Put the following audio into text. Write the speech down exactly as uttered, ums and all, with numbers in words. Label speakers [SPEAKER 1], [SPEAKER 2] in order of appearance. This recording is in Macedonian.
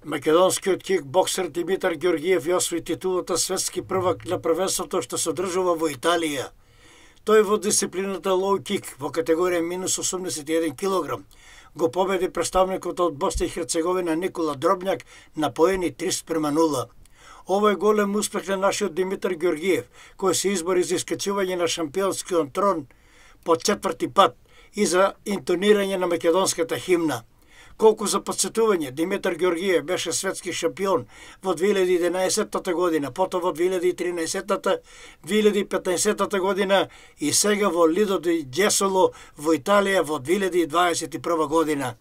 [SPEAKER 1] Македонскиот кикбоксер Димитар Ѓорѓиев ја освои титулата светски првак на првенството што се одржува во Италија. Тој во дисциплината лоу кик во категорија минус осумдесет и еден килограм го победи представникот од Босна и Херцеговина Никола Дробњак на поени три спрема нула. Ова е голем успех на нашиот Димитар Ѓорѓиев, кој се избори за искачување на шампионскиот трон по четврти пат и за интонирање на македонската химна. Колку за подсетување, Димитар Ѓорѓиев беше светски шампион во две илјади и единаесеттата година, потоа во две илјади и тринаесеттата, две илјади и петнаесеттата година и сега во Лидо ди Џесоло во Италија во две илјади и дваесет и прва година.